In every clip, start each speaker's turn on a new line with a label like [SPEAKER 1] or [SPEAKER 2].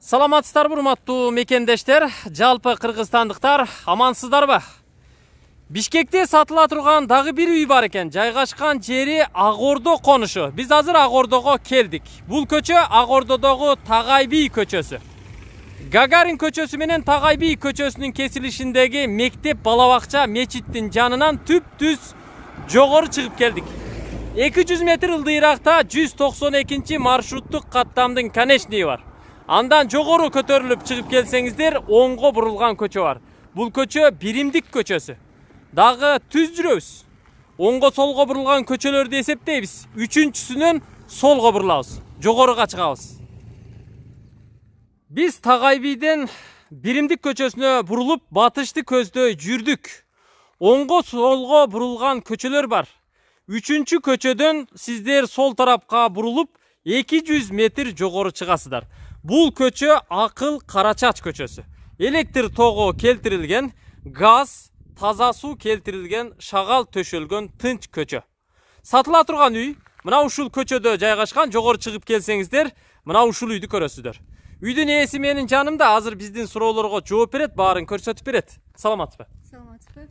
[SPEAKER 1] Саламатсыздарбы, урматтуу мекендештер, жалпы кыргызстандыктар, амансыздарбы? Бишкекте сатыла турган дагы бир үй бар экен. Жайгашкан жери Ак Ордо конушу. Биз азыр Ак Ордого келдик. Бул көчө Ак Ордодогу Тагай би көчөсү. Гагарин көчөсү менен Тагай би көчөсүнүн кесилишиндеги мектеп, балабакча, мечиттин жанынан түп-түз жогору чыгып келдик. 200 метр ылдыйракта 192 маршруттук каттамдын конечниги бар. Андан жогору көтөрүлүп чыгып келсеңиздер, оңго бурулган көчө бар. Бул көчө Биримдик көчөсү. Дагы түз жүрөбүз. Оңго солго бурулган көчөлөрдү эсептейбиз. Үчүнчүсүнөн солго бурулабыз. Жогоруга чыгабыз. Биз Тагай биден Биримдик көчөсүнө бурулуп, батышты көздөй жүрдүк. Оңго солго бурулган көчөлөр бар. Үчүнчү көчөдөн сиздер сол тарапка бурулуп, 200 метр жогору чыгасыздар. Бул көчө Акыл Карачач көчөсү. Электр тогу келтирилген, газ, таза суу келтирилген, шагал төшөлгөн тынч көчө. Сатыла турган үй мына ушул көчөдө жайгашкан. Жогору чыгып келсеңиздер, мына ушул үйдү көрөсүздөр. Үйдүн ээси менин жанымда, азыр биздин суроолорго жооп берет, баарын көрсөтүп берет. Саламатсызбы?
[SPEAKER 2] Саламатсызбы?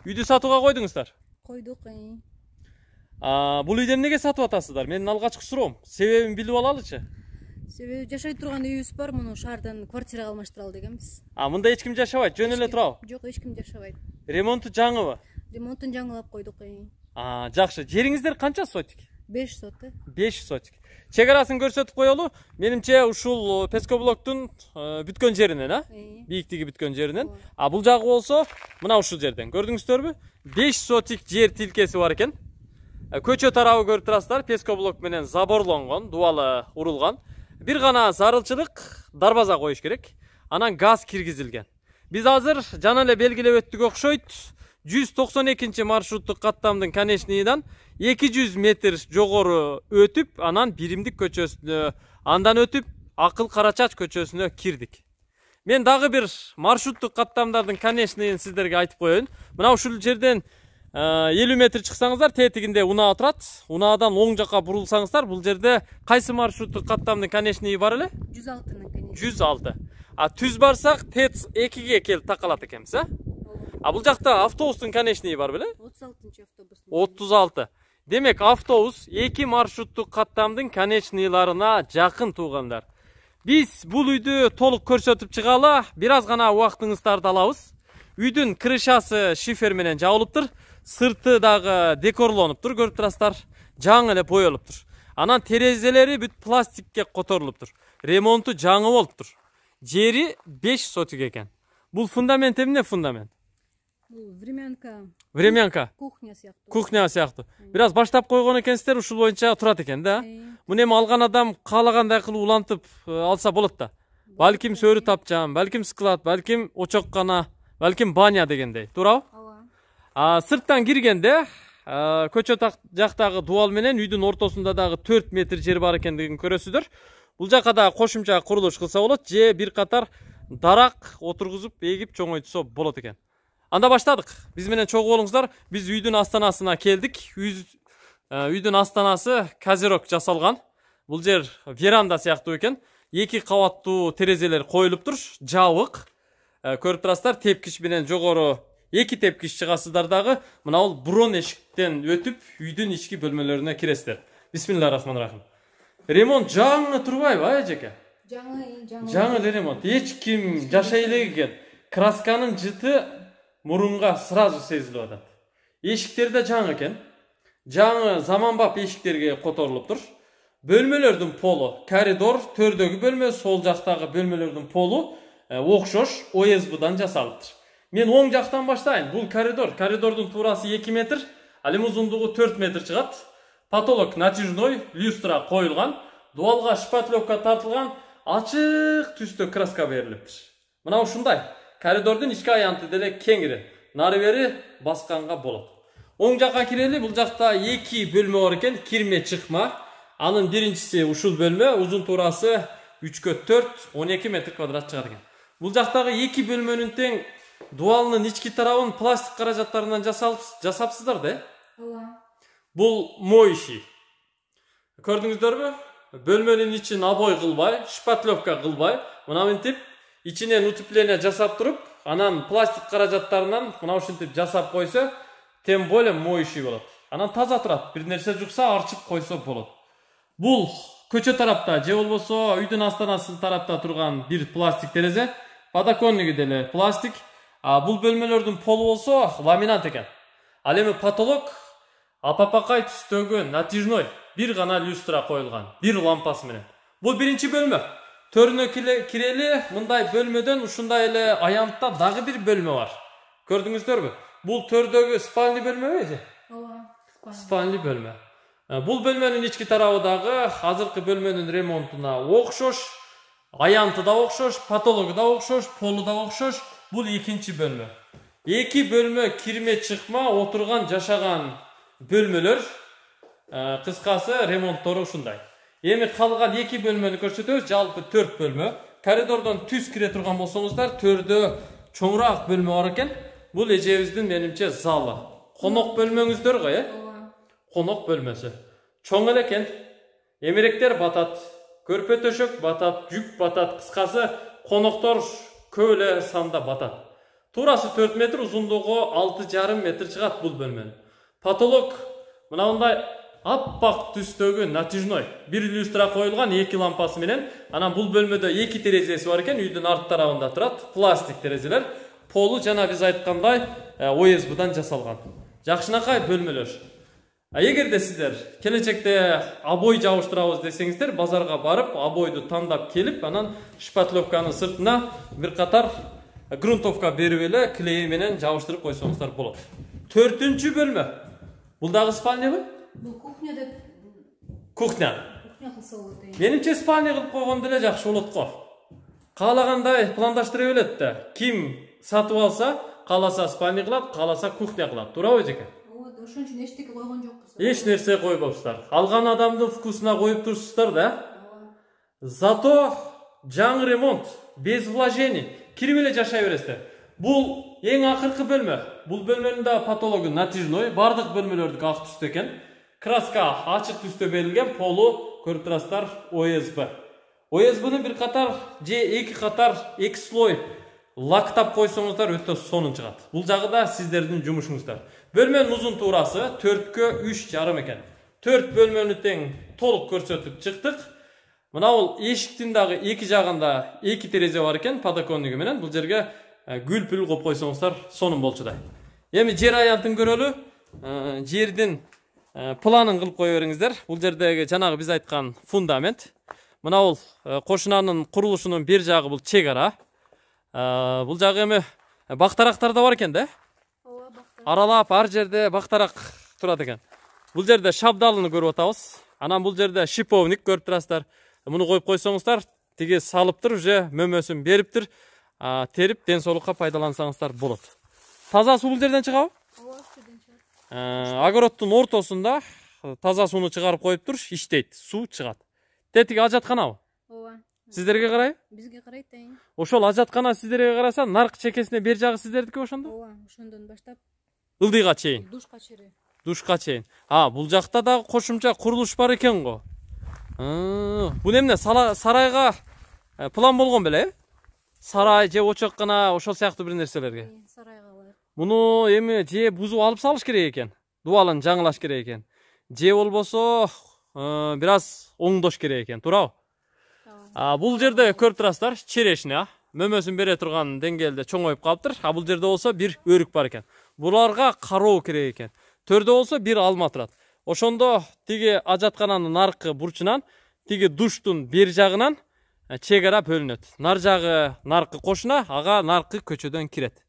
[SPEAKER 1] Үйдү сатууга койдуңуздар?
[SPEAKER 2] Койдук.
[SPEAKER 1] Бул үйдү эмнеге сатып атасыздар? Менин алгачкы суроом. Себебин билип алалычы?
[SPEAKER 2] Себеби жашай турган үйүбүз бар, муну шаардан квартирага алмаштыралы дегенбиз.
[SPEAKER 1] Мында эч ким жашабайт, жөн эле турабы?
[SPEAKER 2] Жок, эч ким жашабайт.
[SPEAKER 1] Ремонту жаңыбы?
[SPEAKER 2] Ремонтун жаңылап койдук.
[SPEAKER 1] Жакшы. Жериңиздер канча сотик?
[SPEAKER 2] 5 сотик.
[SPEAKER 1] 5 сотик. Чек арасын көрсөтүп коелу. Менимче ушул Пескоблоктун бүткөн жеринен, бийиктиги бүткөн жеринен. Бул жагы болсо мына ушул жерден. Көрдүңүздөрбү? 5 сотик жер тилкеси бар экен. Көчө тарабы көрүп турасыздар, Пескоблок менен заборлонгон, дубалы урулган. Бир гана зарылчылык дарбаза коюш керек. Анан газ киргизилген. Биз азыр жана эле белгилеп өттүк окшойт. 192 маршруттук каттамдын конечнигинен 200 метр жогору өтүп, анан Биримдик көчөсүнө, андан өтүп Акыл Карачач көчөсүнө кирдик. Мен дагы бир маршруттук каттамдардын конечнигин сиздерге айтып коеюн. Мына ушул жерден 50 метр чыксаңыздар, тетигинде унаа турат. Унаадан оң жакка бурулсаңыздар, бул жерде кайсы маршруттук каттамдын конечниги бар эле?
[SPEAKER 2] 106-нын конечниги.
[SPEAKER 1] 106. Түз барсак, ТЭЦ 2ге келип такалат экенбиз, бул жакта автобустун конечниги бар беле?
[SPEAKER 2] 36-чы автобус.
[SPEAKER 1] 36. Демек, автобус 2 маршруттук каттамдын конечнийларына жакын туугандар. Биз бул үйдү толук көрсөтүп чыгалы, бир аз гана убактыңыздарды алабыз. Үйдүн крышасы шифер менен жабылыптыр. Сырты дагы декорлонуптур, көрүп турасыздар. Жаңы эле боелуптур. Анан терезелери бүт пластикке которулуптур. Ремонту жаңы болуптур. Жери 5 сотик экен. Бул фундамент эмне фундамент?
[SPEAKER 2] Бул времянка.
[SPEAKER 1] Времянка.
[SPEAKER 2] Кухня сыяктуу.
[SPEAKER 1] Кухня сыяктуу. Бир аз баштап койгон экенсиздер, ушул боюнча турат экен да. Муну эми алган адам каалагандай кылып улантып алса болот да. Балким сөрү тапчан, балким склад, балким очоккана, балким баня дегендей. Туурабы? Сырттан киргенде көчө жактагы дубал менен үйдүн ортосунда дагы 4 метр жер бар экендигин көрөсүздөр. Бул жака да кошумча курулуш кылса болот, же бир катар дарак отургузуп, эгип чоңойтсо болот экен. Анда баштадык. Биз менен чогуу болуңуздар. Биз үйдүн астанасына келдик. Үйдүн астанасы козерок жасалган. Бул жер веранда сыяктуу экен. 2 кабаттуу терезелер коюлуптур, жабык. Көрүп турасыздар, тепкич менен жогору 2 тепкич чыгасыздар дагы. Мына бул бурон эшиктен өтүп, үйдүн ички бөлмөлөрүнө киресиздер. Бисмиллахиррахманиррахим. Ремонт жаңы турбайбы, эжеке? Жаңы эле ремонт. Эч ким жашай элек экен. Красканын жыты мурунга сразу сезилип атат. Эшиктер да жаңы экен. Жаңы заманбап эшиктерге которулуптур. Бөлмөлөрдүн полу, коридор, төрдөгү бөлмө, сол жактагы бөлмөлөрдүн полу окшош ОСБдан жасалыптыр. Мен оң жактан баштайын. Бул коридор. Коридордун туурасы 2 метр, ал эми узундугу 4 метр чыгат. Потолок натяжной, люстра коюлган, дубалга шпатлевка тартылган, ачык түстө краска берилиптир. Мына ушундай. Коридордун ички аянты деле кеңири. Нары бери басканга болот. Оң жакка кирели, бул жакта 2 бөлмө бар экен, кирме чыкма. Анын биринчиси ушул бөлмө, узун туурасы 3/4, 12 метр квадрат чыгат экен. Бул жактагы 2 бөлмөнүн тең дубалынын ички тарабын пластик каражаттарынан жасапсыздар да?
[SPEAKER 2] Ооба.
[SPEAKER 1] Бул моющий. Көрдүңүздөрбү? бөлмөнүн ичин обой кылбай, шпатлевка кылбай, мына мынтип ичинен утепление жасап туруп, анан пластик каражаттарынан мына ушинтип жасап койсо, тем более моющий болот. Анан таза турат. Бир нерсе жукса арчып койсо болот. Бул көчө тарапта же болбосо үйдүн астанасы тарапта турган бир пластик терезе, подоконниги деле пластик. Бул бөлмөлөрдүн полу болсо ламинат экен. Ал эми потолок апапакай түстөгү натяжной бир гана люстра коюлган, бир лампасы менен. Бул биринчи бөлмө. Төрүнө кирели мындай бөлмөдөн ушундай эле аянтта дагы бир бөлмө бар. Көрдүңүздөрбү? Бул төрдөгү спальный бөлмөбү эже?
[SPEAKER 2] Ооба.
[SPEAKER 1] Спальный бөлмө. Бул бөлмөнүн ички тарабы дагы азыркы бөлмөнүн ремонтуна окшош, аянты да окшош, потологу да окшош, полу да окшош. Бул экинчи бөлмө. Эки бөлмө кирме чыкма отурган жашаган бөлмөлөр. Кыскасы ремонттору ушундай. Эми калган эки бөлмөнү көрсөтөбүз, жалпы 4 бөлмө. Коридордон түз кире турган болсоңуздар, төрдө чоңураак бөлмө бар экен. Бул эжебиздин менимче залы. Конок бөлмөңүздөр го,
[SPEAKER 2] Ооба.
[SPEAKER 1] Конок бөлмөсү. Чоң эле экен. Эмеректер батат, көрпө төшөк батат, жүк батат. Кыскасы коноктор көп эле санда батат. Туурасы 4 метр, узундугу 6,5 метр чыгат бул бөлмөнүн. Потолок мындай аппак түстөгү натяжной. Бир люстра коюлган, эки лампасы менен. Анан бул бөлмөдө эки терезеси бар экен, үйдүн арт тарабында турат. Пластик терезелер. Полу жана биз айткандай ОСБ-дан жасалган. Жакшынакай бөлмөлөр. Эгерде сиздер келечекте обой жабыштырабыз десеңиздер, базарга барып, обойду тандап келип, анан шпатлевканын сыртына бир катар грунтовка берип эле клей менен жабыштырып койсоңуздар болот. 4-үнчү бөлмө. Бул дагы спальнябы?
[SPEAKER 2] Бул кухня деп.
[SPEAKER 1] Кухня.
[SPEAKER 2] Кухня кылса болот.
[SPEAKER 1] Менимче спальня кылып койгондо эле жакшы болот го. Каалагандай пландаштыра берет да. Ким сатып алса, кааласа спальня кылат, кааласа кухня кылат. Туурабы эжеке?
[SPEAKER 2] Ооба, ошон үчүн эчтеке койгон жокпуз.
[SPEAKER 1] Эч нерсе койбопсуздар. Алган адамдын вкусуна коюп турсуздар да. Зато жаңы ремонт, без вложений. Кирип эле жашай бересиздер. Бул эң акыркы бөлмө. Бул бөлмөнүн да потологу натяжной, бардык бөлмөлөрдүкү ак түстө экен. Краска ачык түстө берилген, полу көрүп турасыздар ОСБ. ОСБны бир катар же эки катар, эки слой лактап койсоңуздар өтө сонун чыгат. Бул жагы да сиздердин жумушуңуздар. Бөлмөнүн узун туурасы 4-кө 3,5 экен. 4 бөлмөнү тең толук көрсөтүп чыктык. Мына бул эшиктин дагы эки жагында эки терезе бар экен, подоконниги менен. Бул жерге гүл-пүл коюп койсоңуздар сонун болчудай. Эми жер аянтын көрөлү. Жердин планын кылып кое бериңиздер. Бул жердеги жанагы биз айткан фундамент. Мына бул кошунанын курулушунун бир жагы бул чек ара. Бул жагы эми бактарактар да бар экен да?
[SPEAKER 2] Ооба, бактар.
[SPEAKER 1] Аралап ар жерде бактарак турат экен. Бул жерде шабдалыны көрүп атабыз. Анан бул жерде шиповник көрүп турасыздар. Муну коюп койсоңуздар, тиги салыптыр, уже мөмөсүн бериптир. Терип ден соолукка пайдалансаңыздар болот. Таза суу бул жерден чыгабы?
[SPEAKER 2] Ооба, жерден чыгат.
[SPEAKER 1] Огороддун ортосунда таза сууну чыгарып коюптур, иштейт, суу чыгат. Тетиги ажатканабы?
[SPEAKER 2] Ооба.
[SPEAKER 1] Сиздерге карайбы?
[SPEAKER 2] Бизге карайт тең.
[SPEAKER 1] Ошол ажаткана сиздерге караса, наркы чекесине бер жагы сиздердики ошондо?
[SPEAKER 2] Ооба, ошондон баштап
[SPEAKER 1] Ылдыйга чейин.
[SPEAKER 2] душка чейин.
[SPEAKER 1] Душка чейин. Бул жакта дагы кошумча курулуш бар экен го. Бул эмне сарайга план болгон беле? Сарай же очоккана ошол сыяктуу бир нерселерге.
[SPEAKER 2] Сарайга бар.
[SPEAKER 1] Муну эми же бузуп алып салыш керек экен. Дубалын жаңылаш керек экен. Же болбосо бир аз оңдош керек экен, туурабы? Бул жерде көрүп турасыздар, черешня, мөмөсүн бере турган деңгээлде чоңоюп калыптыр. Бул жерде болсо бир өрүк бар экен. Буларга кароо керек экен. Төрдө болсо бир алма турат. Ошондо тиги ажаткананын аркы бурчунан, тиги душтун бер жагынан чек ара бөлүнөт. Нар жагы наркы кошуна, ага наркы көчөдөн кирет.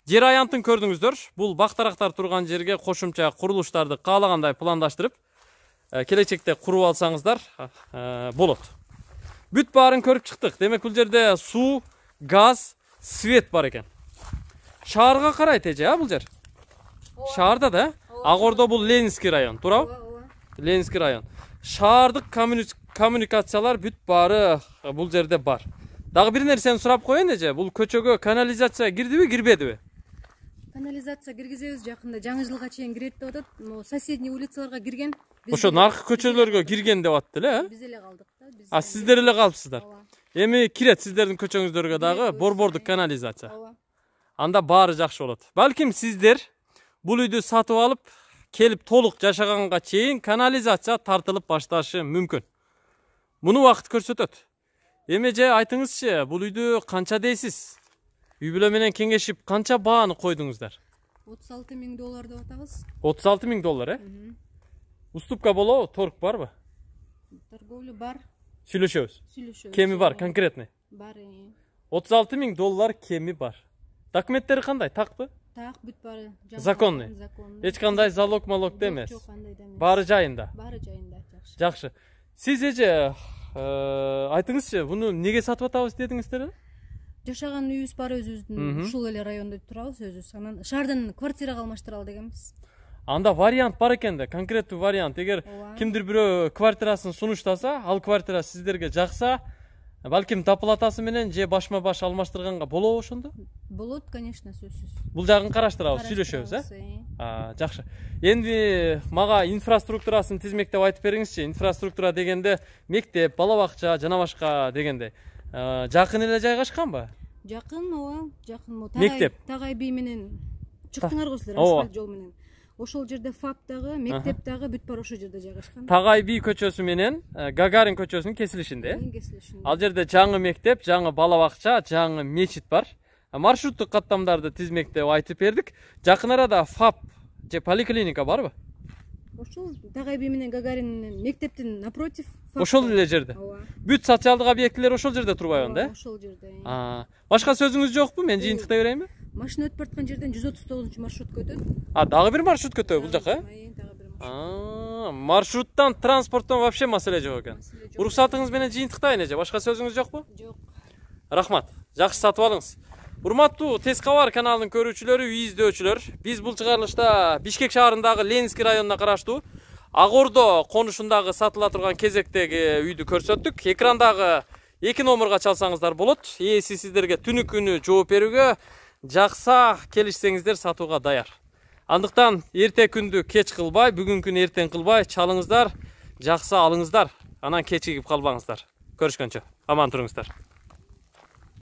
[SPEAKER 1] Жер аянтын көрдүңүздөр. Бул бактарактар турган жерге кошумча курулуштарды каалагандай пландаштырып, келечекте куруп алсаңыздар болот. Бүт баарын көрүп чыктык. Демек бул жерде суу, газ, свет бар экен. Шаарга карайт эже, бул жер. Шаарда да? Агордо бул Ленинский район, туурабы?
[SPEAKER 2] Ооба.
[SPEAKER 1] Ленинский район. Шаардык коммуникациялар бүт баары бул жерде бар. Дагы бир нерсени сурап коеюн эже, бул көчөгө канализация кирдиби, кирбедиби?
[SPEAKER 2] Канализация киргизебиз жакында, жаңы жылга чейин кирет деп атат. Соседний улицаларга кирген.
[SPEAKER 1] Ошо наркы көчөлөргө кирген деп атты эле,
[SPEAKER 2] Биз эле калдык да.
[SPEAKER 1] А сиздер эле калыпсыздар.
[SPEAKER 2] Ооба.
[SPEAKER 1] Эми кирет сиздердин көчөңүздөргө дагы борбордук канализация.
[SPEAKER 2] Ооба.
[SPEAKER 1] Анда баары жакшы болот. Балким сиздер бул үйдү сатып алып, келип толук жашаганга чейин канализация тартылып башташы мүмкүн. Муну убакыт көрсөтөт. Эми же айтыңызчы, бул үйдү канча дейсиз? Үй бүлө менен кеңешип канча бааны койдуңуздар?
[SPEAKER 2] $36,000 деп атабыз.
[SPEAKER 1] $36,000, Уступка болобу, торг барбы?
[SPEAKER 2] Торговля бар.
[SPEAKER 1] Сүйлөшөбүз. Кеми бар, конкретный?
[SPEAKER 2] Бар.
[SPEAKER 1] $36,000 кеми бар. Документтери кандай? Такпы?
[SPEAKER 2] Так, бүт бары.
[SPEAKER 1] Законный. Эч кандай залог эмес.
[SPEAKER 2] Жок, кандай да эмес.
[SPEAKER 1] Баары жайында.
[SPEAKER 2] Баары жайында, жакшы.
[SPEAKER 1] Жакшы. Сиз эже айтыңызчы, буну неге сатып атабыз дедиңиздер?
[SPEAKER 2] Жашаган үйүбүз бар өзүбүздүн, ушул эле райондо турабыз өзүбүз. Анан шаардан квартирага алмаштыралы дегенбиз.
[SPEAKER 1] Анда вариант бар экен да, конкреттүү вариант. Эгер кимдир бирөө квартирасын сунуштаса, ал квартира сиздерге жакса, балким доплатасы менен же башма баш алмаштырганга болобу ошондо?
[SPEAKER 2] Болот, конечно, сөзсүз.
[SPEAKER 1] Бул жагын караштырабыз, сүйлөшөбүз, жакшы. Энди мага инфраструктурасын тизмектеп айтып бериңизчи. Инфраструктура дегенде мектеп, бала бакча жана башка дегенде жакын эле жайгашканбы?
[SPEAKER 2] Жакын, ооба, жакын.
[SPEAKER 1] Мектеп.
[SPEAKER 2] Тагай бий менен чыктыңарбы силер асфальт жол менен. Ошол жерде ФАП дагы, мектеп дагы бүт бар ошол жерде жайгашкан.
[SPEAKER 1] Тагай бий көчөсү менен Гагарин көчөсүнүн кесилишинде. Ал жерде жаңы мектеп, жаңы бала бакча, жаңы мечит бар. Маршруттук каттамдарды тизмектеп айтып бердик. Жакын арада ФАП же поликлиника барбы?
[SPEAKER 2] Ошол Тагай бий менен Гагарин мектептин напротив.
[SPEAKER 1] Ошол эле жерде. Бүт социалдык объектилер ошол жерде турбайбы да?
[SPEAKER 2] Ошол жерде.
[SPEAKER 1] Башка сөзүңүз жокпу? Мен жыйынтыктай берейинби?
[SPEAKER 2] Машина өтүп бараткан жерден 139-маршрутка өтөт.
[SPEAKER 1] Дагы бир маршрут өтөбү бул жака? Маршруттан, транспорттон вообще маселе жок экен. Уруксатыңыз менен жыйынтыктайын эже. Башка сөзүңүз жокпу?
[SPEAKER 2] Жок.
[SPEAKER 1] Рахмат. Жакшы сатып алыңыз. Урматтуу Тез кабар каналынын көрүүчүлөрү, үй издөчүлөр, биз бул чыгарылышта Бишкек шаарындагы Ленинский районуна караштуу Ак Ордо конушундагы сатыла турган кезектеги үйдү көрсөттүк. Экрандагы 2 номерга чалсаңыздар болот. Ээси сиздерге түнү күнү жооп берүүгө жакса келишсеңиздер сатууга даяр. Андыктан эрте күндү кеч кылбай, бүгүн күн эртең кылбай чалыңыздар, жакса алыңыздар, анан кечигип калбаңыздар. Көрүшкөнчө аман туруңуздар.